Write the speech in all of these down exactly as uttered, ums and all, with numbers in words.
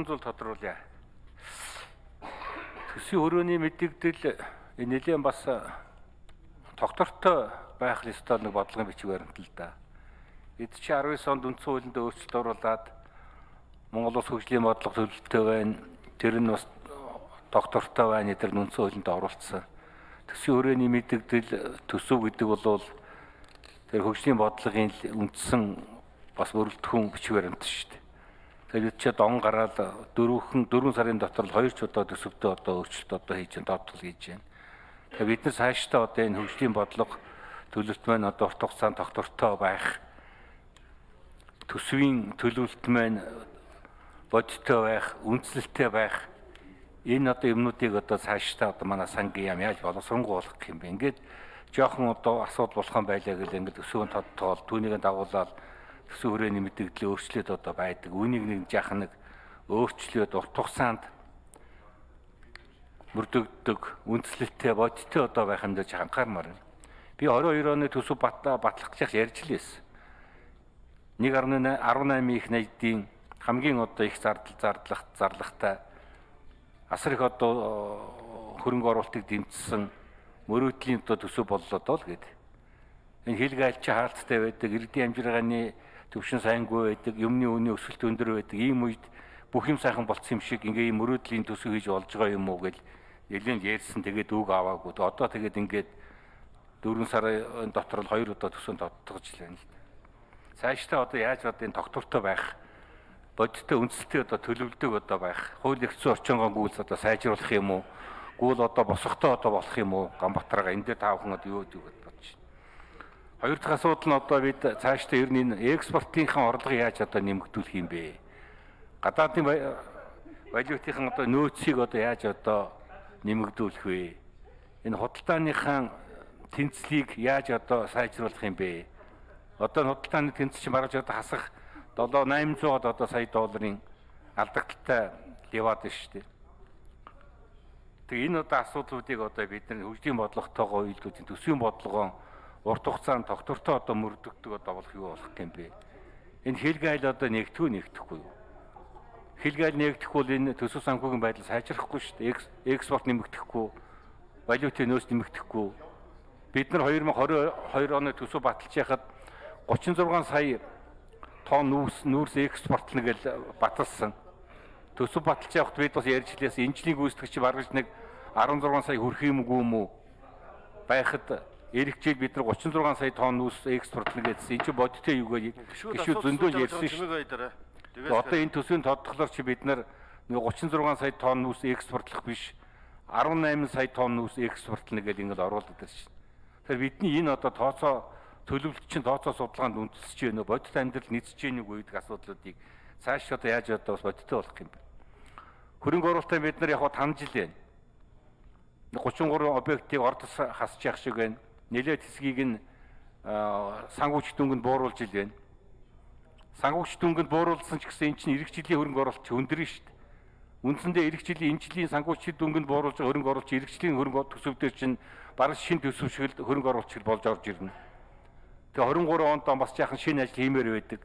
зүйл тодруулъя. Төсвийн өрөөний мэдээлэл энэ нэлээд бас тогтвортой байх ёстой нэг бодлогын бичиг баримт л да. Эд чи арван девь онд үндсэн хуулинд өөрчлөлт оруулаад Монгол Улс хөгжлийн бодлого төлөвлөлттэй байна. Тэр нь бас тогтвортой байна. Тэр нь үндсэн хуулинд оруулсан. Төсвийн өрөөний мэдээлэл төсөв гэдэг бол тэр хөгжлийн бодлогын үндсэн бас өрөлтхүүн бичиг баримт шүү дээ. Тэгээд чи дон гараад дөрвөн дөрвөн сарын дотор л хоёр ч удаа төсөвтөө одоо өөрчлөлт одоо хийж байна, доотлол хийж байна. Тэгээд бид нар цаашдаа одоо энэ хөгжлийн бодлого төлөвлөлт маань одоо урт хугацаанд тогтвортой байх, төсвийн төлөвлөлт маань бодиттой байх, үндслэлтэй байх. Энэ одоо юмнуудыг одоо цаашдаа одоо манай сангийн яам яаж боловсронгуулах гэх юм бэ? Ингээд жоохон одоо асуудал болох юм байлаа гэл ингээд төсвийн тодтоол түүнийг дагуулаад төсвийн хүрээний мэдээлэл өөрчлөлт одоо байдаг. Үүнийг нэг жаахан нэг өөрчлөлт урт хугацаанд мөрдөгдөг, үндслэлтэй бодиттой одоо байх юм дэж анхаармаар байна. Би орой хоёр оны төсөв батлах гэж ярьж лээсэн. нэг арван наймын их найдын хамгийн одоо их зардал зарлах зарлагтай асар их одоо хөрөнгө оруулалтыг дэмжсэн мөрөөдлийн одоо төсөв боллоо доо л гэдэг. Энэ хэлгээ альч хаалттай байдаг, иргэдийн амжиргааны төвшин сайнгүй байдаг, юмны үнийн өсөлт өндөр байдаг. Ийм үед бүх юм сайхан болцсон юм шиг ингээ ийм мөрөөдлийн төсөв хийж болж байгаа юм уу гэж нэлээд ярьсан. Тэгээд үг аваагүй. Одоо тэгээд ингээд дөрвөн сарын дотор л хоёр удаа төсөв тодтогч лээ л. Цаашдаа одоо яаж одоо энэ тогтвортой байх, бодиттой үндсэлтэй одоо төлөвлөдөг одоо байх, хууль эрх зүйн орчингоо гүйлс одоо сайжруулах юм уу? Гүйл одоо босгохтой одоо болох юм уу? Гамбатрага энэ дээр таавхан одоо юу гэж бодож байна. Хоёр дахь асуудал нь одоо бид цаашдаа ер нь экспортынхаа орлогыг яаж одоо нэмэгдүүлэх юм бэ? Гадаадын валютын одоо нөөцийг одоо яаж одоо нэмэгдүүлэх вэ? Энэ худалдааныхаа тэнцлийг яаж одоо сайжруулах юм бэ? Одоо худалдааны тэнцэл чинь бараж одоо хасах долоо восемь сая одоо сая долларын алдагдaltaй яваад байна шүү дээ. Тэгээ энэ одоо асуудлуудыг одоо бид нар хөгжлийн бодлоготойгоо үйлдвэрлэлийн төсвийн бодлогоо урт хугацаанд тогтвортой одоо мөрдөгдөг одоо болох юу болох юм бэ? Энэ хэлгээл одоо нэгтгэв нэгтгэхгүй юу? Хэлгээл нэгтгэхгүй бол энэ төсөв санхүүгийн байдал сайжрахгүй шүү дээ. Экспорт нэмэгдэхгүй, валютын нөөц нэмэгдэхгүй. Бид нар хоёр мың двадцать хоёр оны төсөв баталж яхад гучин зургаан сая тонн нүүрс нүүрс экспортлно гэж баталсан. Төсөв баталж явахд бид бас ярьж лээс энэ жилийн гүйцэтгэгч баргаж нэг арван зургаан сая хүрэх юм уу байхад эх жил бид нар гучин зургаан сая тонн нүүрс экспортлно гэсэн энэ ч бодиттой юу гэж гişүүд зөндөө ярьсан шүү. Одоо энэ төсвийн тодтоглоор чи бид нар гучин зургаан сая тонн нүүрс экспортлох биш арван найман сая тонн нүүрс экспортлно гэж ингэж оруулаад байна шүү. Тэгэхээр бидний энэ одоо тооцоо төлөвлөлт чинь тооцоо судалгаанд үндэслэж байна уу? Бодит амьдрал нийцэж байна уу гэдэг асуудлуудыг цааш одоо яаж одоо бас бодиттой болох юм бэ? Хөрөнгө оруулалтаа бид нар яг таньж л байна. гучин гурван объектыг ордос хасж явах шиг байна. Нэлээд хэсгийг нь санхүүч дүнганд бууруулж ил байна. Санхүүч дүнганд бууруулсан ч гэсэн эн чинь эх жилийн хөрөнгө оруулалт өндөрнө шүү дээ. Үндсэндээ эх жилийн энэ жилийн санхүүч дүнганд бууруулж байгаа хөрөнгө оруулалт эх жилийн хөрөнгө төсөвдөр чинь бараг шинэ төсөв шиг л хөрөнгө оруулалт шиг болж орж ирнэ. Тэгээ двадцать три онд бас жаахан шинэ ажил хиймээр байдаг.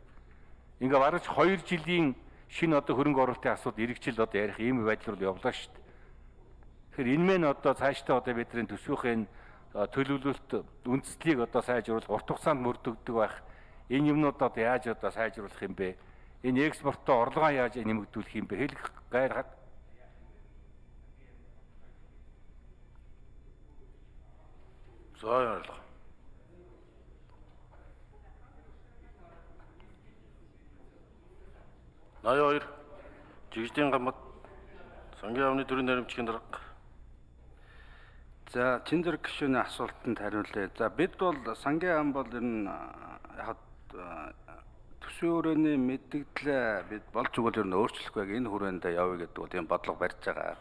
Ингээ бараг хоёр жилийн шинэ одоо хөрөнгө оруулалтын асуудал эх жил одоо ярих ийм байдал руу явлаа шүү дээ. Тэгэхээр энэ мэн одоо цаашдаа одоо бидний төсвийн төлөвлөлт үндслийг одоо сайжруулах, урт хугацаанд мөрдөгдөг байх. Энэ юмнууд одоо яаж одоо сайжруулах юм бэ? Энэ экспортоо орлогоо яаж нэмэгдүүлэх юм бэ? Хэлэх гайр зоо орлого. наяа хоёр жигждийн гамбат сангийн яамны төрийн наримчгийн дарга. За чин зэрэг гишүүний асуултанд хариулъя. За бид бол сангийн яам бол энэ яг төсвийн өрөөний мэдээлэл бид болж өгвөл ер нь өөрчлөхгүй энэ хүрээнд явъя гэдэг бол юм бодлого барьж байгаа.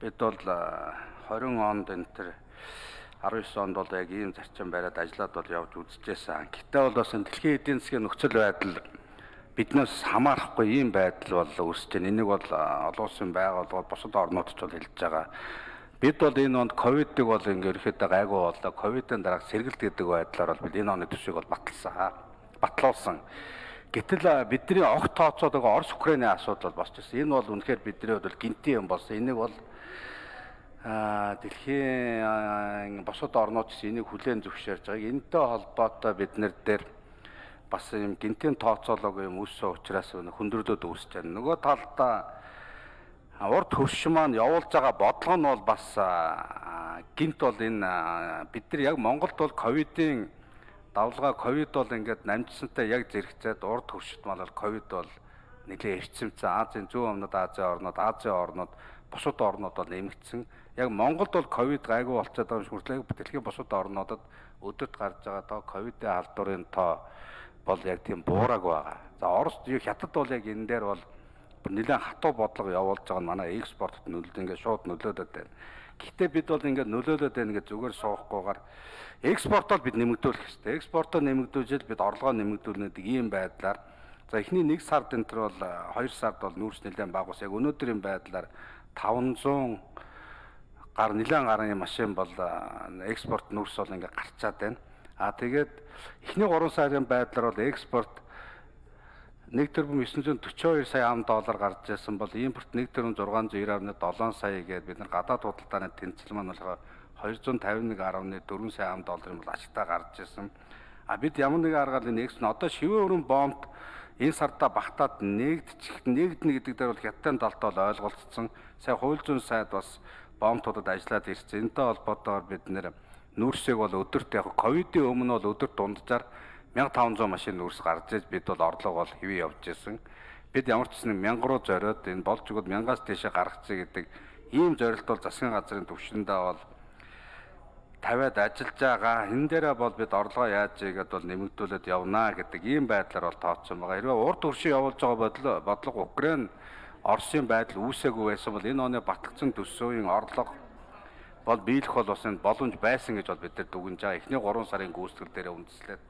Бид бол двадцать онд энэ төр арван девь онд бол яг ийм зарчим бариад ажиллаад бол явж үзчихсэн. Гэтэ бол бас дэлхийн эдийн засгийн нөхцөл байдал биднээс хамаарахгүй ийм байдал бол үүсэж байна. Энийг бол олон улсын байгууллагууд бусад орнуудч бол хэлж байгаа. Бид бол энэ онд ковидыг бол ингээ ерөөхдөө гайгүй болоо. Ковидын дараа сэргэлт гэдэг байдлаар бол бид энэ оны төсвийг бол баталсан. Батлуулсан. Гэтэл бидний огт тооцоод байгаа Орос Украиний асуудал бол босч ирсэн. Энэ бол үнэхээр бидний хувьд бол гинти юм болсон. Энийг бол а дэлхийн босод орнууд ч энийг хүлээн зөвшөөрж байгааг. Энэтэй холбоотой бид нар дээр бас юм гинтийн тооцоолоогүй юм үүссэн учраас хүндрэлүүд үүсэж байна. Нөгөө талдаа урд хөрш маань явуулж байгаа бодлого нь бол бас гинт бол энэ бид нар яг Монголд бол ковидын давлгаа ковид бол ингээд намжсантай яг зэрэгцээд урд хөршид мал бол ковид бол нэлээд эрчимцэн Азийн зүүн өмнөд Азийн орнууд, Азийн орнууд, бусад орнууд бол нэмэгдсэн. Яг Монголд бол ковид гайгүй болчиход байгаа юм шиг дэлхийн бусад орнуудад өдөрт гарч байгаа тоо ковидын халдварын тоо бол яг тийм буураг байгаа. За Орос хятад бол яг энэ дээр бол нэлээд хатуу бодлого явуулж байгаа нь манай экспортод нөлөөд ингээд шууд нөлөөдөд байна. Гэхдээ бид бол ингээд нөлөөлөд байна гэж зүгээр суухгүйгээр экспортоор бид нэмэгдүүлэх хэрэгтэй. Экспортоо нэмэгдүүлжэл бид орлогоо нэмэгдүүлнэ гэдэг ийм байдлаар за эхний нэг сард энэ төр бол хоёр сард бол нүүрс нэлээд бага ус. Яг өнөөдрийн байдлаар таванзуун гар нэлээд гарын машин бол экспорт нүүрс бол ингээд гарчаад байна. А тэгээд эхний гурван сарын байдлаар бол экспорт нэг тэрбум девятьсот сорок two сая ам доллар гарч ирсэн бол импорт нэг тэрбум six hundred nine point seven сая гээд бид нар гадаад худалдааны тэнцэл маань болохоор two hundred fifty-one point four сая ам долларын бол ашигтай гарч ирсэн. А бид ямар нэгэн аргаар энэ экспорт одоо шивээ өрн бомб энэ сарда багтаад нэгдчих нэгднэ гэдэг дээр бол хятадын талтай бол ойлголцсон. Сая хууль зүйн сайд бас бомбтуудад ажиллаад ирсэн. Энэтэй холбоотойгоор бид нэр нүүрсийг бол өдөрт яг ковидын өмнө бол өдөрт дунджаар fifteen hundred машин нүүрс гарч иж бид бол орлого бол хэвээ явж ирсэн. Бид ямар ч гэсэн one thousand руу зориод энэ болж өгöd one thousand-аас тийшээ гаргацъя гэдэг ийм зорилт бол засгийн газрын төвшөндөө бол тавиад ажиллаж байгаа. Энэ дээрээ бол бид орлогоо яаж ийгээд бол нэмэгдүүлээд явнаа гэдэг ийм байдлаар бол тооцсон байгаа. Хэрвээ урд хөршин явуулж байгаа бодлого Украин Оросын байдал үүсээгүй байсан бол энэ оны батлагдсан төсвийн орлого бол биелэх бол бас энэ боломж байсан гэж бол бид нар дүгнэж байгаа. Эхний three сарын гүйцэтгэл дээр үндэслээд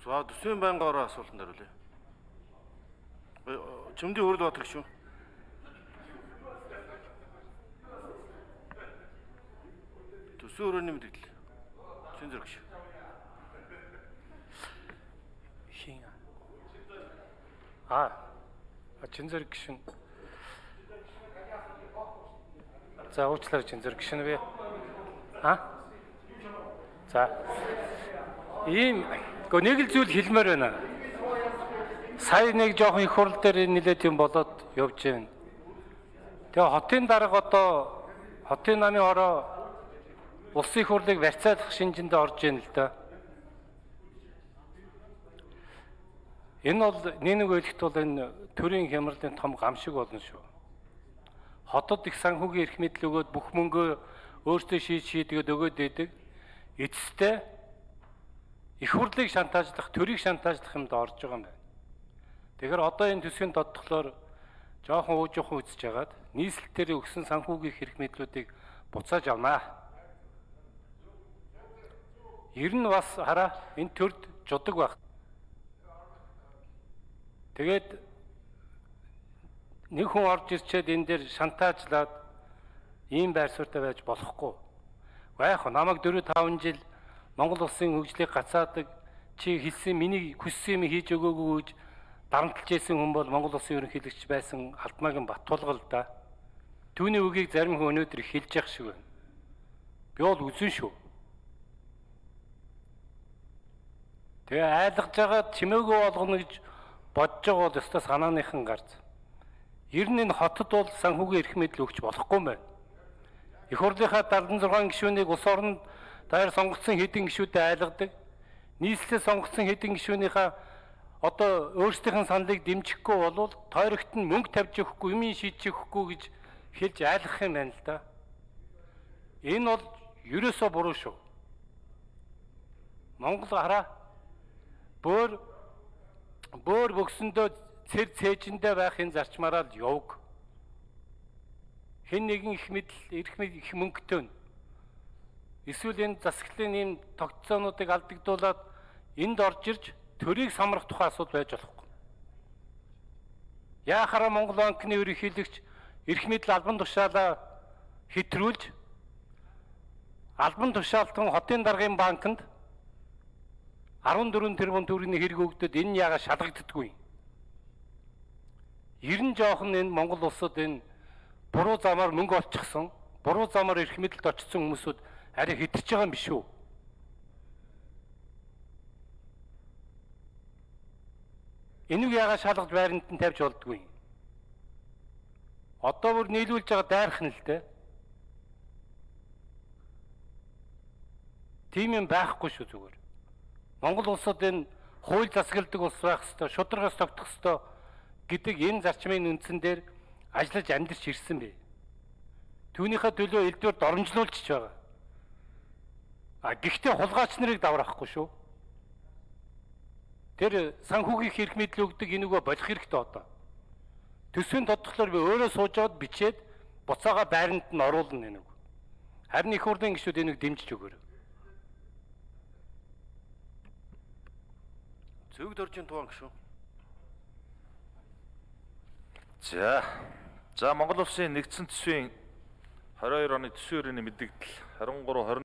За төсвийн байнгын орон асуултанд хариулъя. Чимдийн хөрөл батг шүү. Төсвийн өрөөний мэдээлэл. Чин зэрэг шүү. Хин. А. Чин зэрэг гişүн. За уучлаарай чин зэрэг гişүн бэ. А? За. Ийм Гэхдээ нэг л зүйл хэлмээр байна. Сая нэг жоохон их хурал дээр нэлээд юм болоод явж байна. Тэгээ хотын дарга одоо хотын намын ороо улсын их хурлыг барьцаалах шинжинд орж ийн л да. Энэ бол нэг үйлдэлт бол энэ төрийн хямралын том гам шиг болно шүү. Хотод их санхүүгийн эрх мэдэл өгөөд бүх мөнгөө өөртөө шийд шийдгээд өгөөд байдаг. Эцэстээ их хурлыг шантаажлах, төрийг шантаажлах юмд орж байгаа юм байна. Тэгэхээр одоо энэ төсвийн тодтолоор жоохон уужуухан үзэж хагаад нийслэлээр өгсөн санхүүгийн эрх мэдлүүдийг буцааж авнаа. Ер нь бас хараа энэ төрд жудаг байх. Тэгээд нэг хүн орж ирчээд энэ дээр шантаажлаад ийм байр суурьтай байж болохгүй. Яг намайг four five жил Монгол улсын хөгжлийг гацаадаг чи хэлсэн миний хүссэн юм хийж өгөөгүй гэж дарамтлж байсан хүн бол Монгол улсын ерөнхийлөгч байсан Алтмаагийн Баттулгал да. Түүний үгийг зарим хүн өнөөдөр хэлж явах шиг байна. Би бол үзэн шүү. Тэгээ айлгаж байгаа чимээгөө болгоно гэж бодож байгаа бол өстой санааныхан гарц. Ер нь энэ хотод бол санхүүгийн эрх мэдэл өгч болохгүй юм байна. Их хурлынхаа seventy six гишүүнийг улс оронд даяар сонгогдсон хэдэн гишүүдэд айлгадаг. Нийслэлээ сонгогдсон хэдэн гишүүнийхээ одоо өөрсдийнх нь саналыг дэмжихгүй болвол тойрогт нь мөнгө тавьж өгөхгүй, юм шийдэж өгөхгүй гэж хэлж айлгах юм байна л да. Энэ бол ерөөсөө буруу шүү. Монгол хараа бөөр бөөр бөксөндөө цэр цээжиндээ байх энэ зарчмаараа л явг. Хэн нэгэн их мэдл, эрх мэдл их мөнгөтэй. Эсвэл энэ засаглалын ийм тогтцоонуудыг алдагдуулаад энд орж ирж төрийг самрах тухай асуудал байж болохгүй. Яахаараа Монгол банкны ерөнхийлөгч эрх мэдэл албан тушаалаа хэтрүүлж албан тушаалтан хотын даргын банкнд арван дөрвөн тэрбум төгрөгийн хэрэг өгдөд энэ нь яагаад шалгагддаггүй? Ерэн жоохон энэ Монгол улсад энэ буруу замаар мөнгө олчихсон, буруу замаар эрх мэдэлд очсон хүмүүсүүд арай хэтэрч байгаа юм биш үү? Энийг яагаад шалгаж байранд нь тавьж болдгүй? Одоо бүр нийлүүлж байгаа дайрах нь л дээ. Тийм юм байхгүй шүү зүгээр. Монгол улсад энэ хууль засагладаг улс байх ёстой, шударгаас тогтох ёстой гэдэг энэ зарчмын үндсэн дээр ажиллаж амьдарч ирсэн бэ. Түүнийхээ төлөө элдвэр доромжлуулж байгаа. А гэхдээ хулгайч нарыг давраахгүй шүү. Тэр санхүүгийн эрх мэдэл өгдөг энийгөө болох хэрэгтэй одоо. Төсвийн тодтолоор би өөрөө суужгаад бичээд буцаага байранд нь оруулна энийг. Харин их хурлын гишүүд энийг дэмжиж өгөөрэй. Зөвөг дөржин туан гişүү. За. За Монгол улсын нэгдсэн төсвийн двадцать хоёр оны төсвийн өрөөний мэдээлэл двадцать trois